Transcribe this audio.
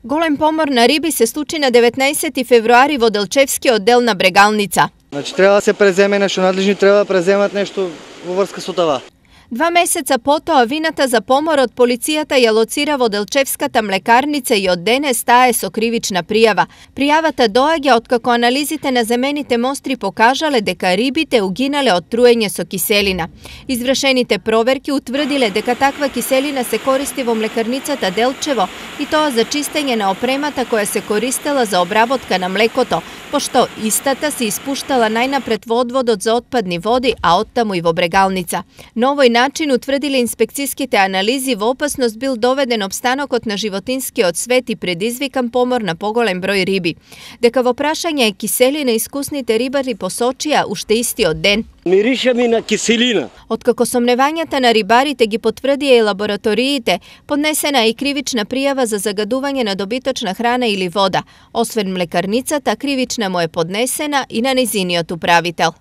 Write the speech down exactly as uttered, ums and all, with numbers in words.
Голем помор на риби се случи на деветнаесети февруари во Делчевскиот дел на Брегалница. Значи треба да се преземе нешто, надлежни треба да преземат нешто во врска со това. Два месеца потоа вината за поморот полицијата ја лоцира во Делчевската млекарница и од денес таа е со кривична пријава. Пријавата доаѓа откако анализите на земените мостри покажале дека рибите угинале од труење со киселина. Извршените проверки утврдиле дека таква киселина се користи во млекарницата Делчево и тоа за чистење на опремата која се користела за обработка на млекото, пошто истата се испуштала најнапред во одводот за отпадни води, а оттаму и во Брегалница. На овој начин утврдиле инспекцијските анализи во опасност бил доведен опстанокот на животинскиот свет и предизвикан помор на поголем број риби. Дека во прашање е киселина, искусните рибари посочија уште истиот ден. Мирише ми на киселина. Откако сомневањата на рибарите ги потврдија и лабораториите, поднесена е и кривична пријава за загадување на добиточна храна или вода. Освен млекарницата, кривична му е поднесена и на нејзиниот управител.